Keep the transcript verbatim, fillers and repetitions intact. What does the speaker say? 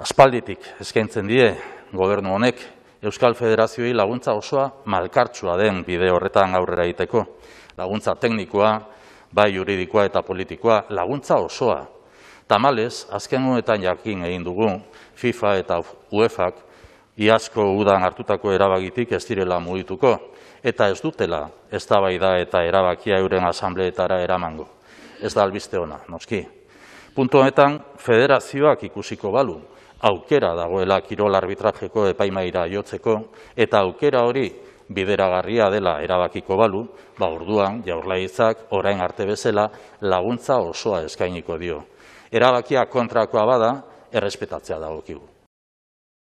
Aspalditik eskaintzen die gobernu honek Euskal Federazioei laguntza osoa malkartsua den bide horretan aurrera egiteko. Laguntza teknikoa, bai juridikoa eta politikoa, laguntza osoa. Tamalez, azken honetan jakin egin dugu, FIFA eta UEFak iazko udan hartutako erabakitik ez direla mugituko, eta ez dutela eztabaida eta erabakia euren asambleetara eramango. Ez da albiste ona, noski. Puntu honetan, federazioak ikusiko balu, aukera dagoela kirol arbitrajeko epaimaira jotzeko, eta aukera hori bideragarria dela erabakiko balu, ba orduan Jaurlaritzak orain arte bezala laguntza osoa eskainiko dio. Erabakia kontrakoa bada, errespetatzea dagokigu.